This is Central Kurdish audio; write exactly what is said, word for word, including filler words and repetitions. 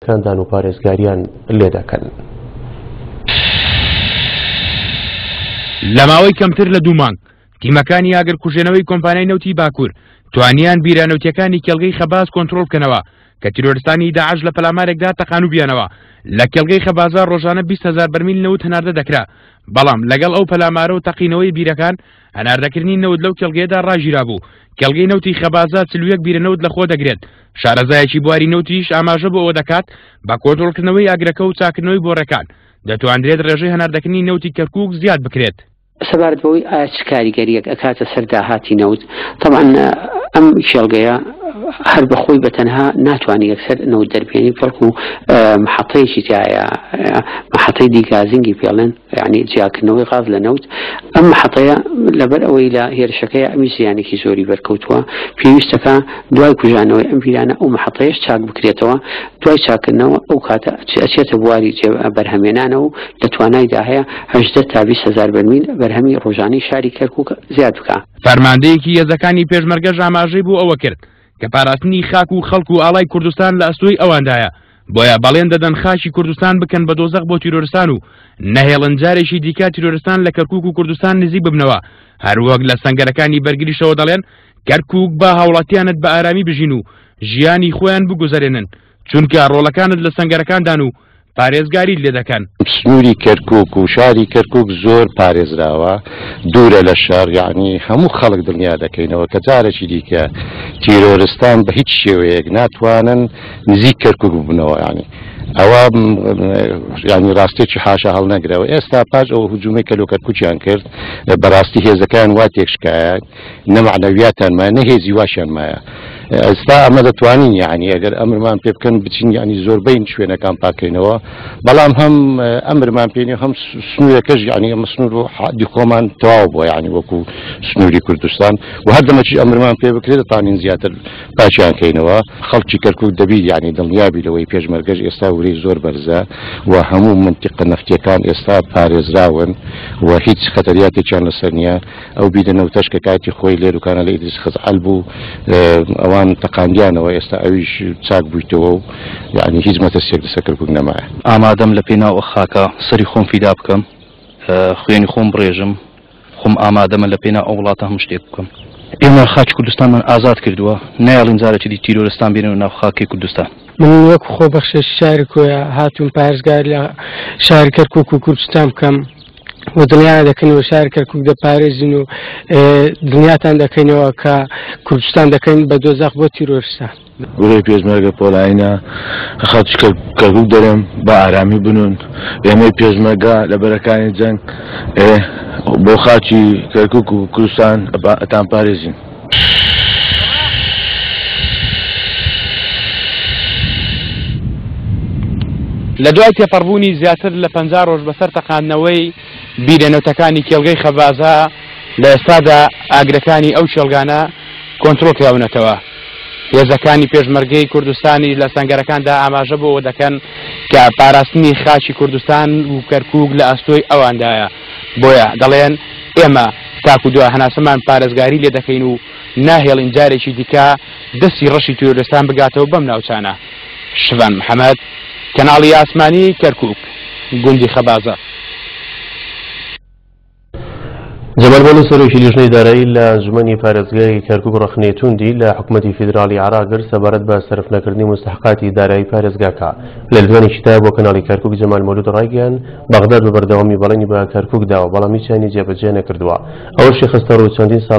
کاندان و پارێزگاریان لێدەکەن. لە ماوەی کەمتر لە دوو مانگ تیمەکانی ئاگرکوژێنەوەی کۆمپانیای نەوتی باکوور توانیان بیرە نەوتیەکانی کێڵگەی خەباز کۆنترۆڵ بکەنەوە کە تیرۆرستانی داعش لە پەلامارێکدا تەقانوبیانەوە. لە کێڵگەی خەبازا ڕۆژانە بیست هەزار بەرمیل نەوت هەناردە دەکرا، بەڵام لەگەڵ ئەو پەلامارە و تەقینەوەی بیرەکان هەناردەکردنی نەوت لەو کێڵگەیەدا ڕاگیرابوو. کێڵگەی نەوتی خەبازا چل و یەک بیرە نەوت لەخۆ دەگرێت. شارەزایەکی بواری نەوتیش ئاماژە بۆ ئەوە دەکات بە کۆنترۆڵکردنەوەی ئاگرەکە و چاکردنەوەی بۆڕەکان دەتواندرێت ڕێژەی هەناردەکردنی نەوتی کەرکووک زیاد بکرێت. سەبارەت بەوەی ئایا چ کاریگەریەک ئەکاتە سەر داهاتی نەوت، طبعا ئەم کێڵگەیە هەر بەخۆی بەتەنها ناتوانێت یەکسەر نەوت دەربێنی، بەڵکو محەتەیەکی تایە، محەتەی دیگازینگی پێڵێن، یعنی جیاکردنەوەی غاز لە نەوت. ئەم محەتەیە لەبەر ئەوەی لە هێرشەکەی ئەمی زیانێکی زۆری بەرکەوتووە، پێویستەکە دوای کوژانەوەی ئەم بیرانە ئەو محەتەیەش چاک بکرێتەوە. دوای چاکردنەوە ئەو کاتە ئەچێتە بواری بەرهەمێنانەوە و لە توانایدا هەیە هەژدە تا بیست هەزار بەرمیل بەرهەمی ڕۆژانەی شاری کەرکووک زیاد بکە. فەرماندەیەکی هێزەکانی پێشمەرگەش ئاماژەی بۆ ئەوە کرد کە پاراستنی خاک و خەڵک و ئاڵای کوردستان لە ئەستۆی ئەواندایە، بۆیە بەڵێن دەدەن خاکی کوردستان بکەن بە دۆزەخ بۆ تیرۆرستان و نەهێڵن جارێکی دیکە تیرۆرستان لە کەرکووک و کوردستان نزیک ببنەوە. هەروەک لە سەنگەرەکانی بەرگریشەوە دەڵێن کەرکووک با هاوڵاتیانت بە ئارامی بژین و ژیانی خۆیان بگوزەرێنن، چونکە ڕۆڵەکانت لە سەنگەرەکاندان و پارێزگاری لێ دەکەن. سنووری کەرکووک و شاری کەرکووک زۆر پارێزراوە، دوورە لە شار، یعنی هەموو خەڵک دڵنیا دەکەینەوە کە جارێکی دیکە تیرۆرستان بە هیچ شێوەیەک ناتوانن نزیک کەرکووک ببنەوە. یعنی ئەوە یعنی ڕاستێکی حاشا هەڵنەگرەوە. ئێستا پاش ئەو هجوومەی کە لۆ کەرکووکیان کرد بەڕاستی هێزەکان وا تێکشکایە، نە مەعنەویاتیان مایە نە هێزی واشیان مایە. ئێستا ئەمە دەتوانین یعنی ئەگەر ئەمرمان پێ بکەن بچین یعنی زۆربەی شوێنەکان پاکەینەوە، بەڵام هەم ئەمرمان پێنی هەم سنوورەکەش یعنی ئەمە سنوور و حەدی خۆمان تەواو بووە، یعنی وەکو سنووری کوردستان و هەر دەمەکی ئەمرمان پێ بکرێت دەتوانین زیاتر پاچیان کەینەوە. خەڵکی کەرکووک دەبی یعنی دڵنیابی لەوەی پێشمەرگەش ئێستا ورەی زۆر بەرزە و هەموو منتیقە نەفتیەکان ئێستا پارێزراون و هیچ خەتەریاتێکیان لەسەر نییە. ئەو بیرە نەوتەش کە کاتی خۆی لێروکانە لە ئیدریس خەزعەل بوو ئەوان تەقاندیانەوە، ئێستا ئەویش چاک بوویتەوە و یعنی هیچ مەترسیەک لەسەر کەرکووک نەمایە. ئامادەم لە پێناو ئەو خاکە سەری خۆم فیدا بکەم، خوێنی خۆم بڕێژم، خۆم ئامادەمە لە پێناو ئەو وڵاتە هەموو شتێک بکەم. ئێمە خاکی کوردستانمان ئازاد کردووە، نایڵین جارێکی دی تیرۆرستان بێنەوە ناو خاکی کوردستان. من وەک خۆبەخشێکی شاری کۆیە هاتووم پارێزگار لە شاری کەرکووک و کوردستان بکەم و دڵنیان دەکەنەوە شاری کەرکووک دەپارێزین و دڵنیاتان دەکەینەوە کە کوردستان دەکەین بە دۆزەخ بۆ تیرۆرستان. گورەی پێشمەرگە پۆڵایینە خەڵکی کەرکووک دەرێم بە ئارامی بنون. ئێمەی پێشمەرگە لە بەرەکانی جەنگ بۆ خاکی کەرکووک و کوردستان ئەتان پارێزین. لە دوای تێپەڕبوونی زیاتر لە پەنجا ڕۆژ بەسەر تەقاندنەوەی بیرە نەوتەکانی کێڵگەی خەبازە، لە ئێستادا ئاگرەکانی ئەو کێڵگانە کۆنترۆڵ کراونەتەوە. هێزەکانی پێشمەرگەی کوردستانی لە سەنگەرەکاندا ئاماژە بۆەوە دەکەن کە پاراستنی خاکی کوردستان و کەرکووک لە ئەستۆی ئەواندایە، بۆیە دەڵێن ئێمە تاکو دوا هەناسەمان پارێزگاری لێ دەکەین و ناهێڵین جارێکی دیکە دەستی ڕەشی تیرۆرستان بگاتەوە بەم ناوچانە. شڤان محەممەد، کەناڵی ئاسمانی کەرکووک، گوندی خەبازە. جەمال مەولود سەرۆکی لیژنەی دارایی لە ئەنجومەنی پارێزگای کەرکووک ڕەخنەی توندی لە حکومەتی فیدراڵی عێراق گرت سەبارەت بە سەرفنەکردنی مستحقاتی دارایی پارێزگاکە. لە لێدوانێکیدا بۆ کەناڵی کەرکووک جەمال مەولود ڕایگەیاند بەغداد بە بەردەوامی بەڵێنی بە کەرکووک داوە، بەڵام هیچیانی جێبەجێ نەکردووە. ئەوەشی خستە ڕوو چەندین ساڵ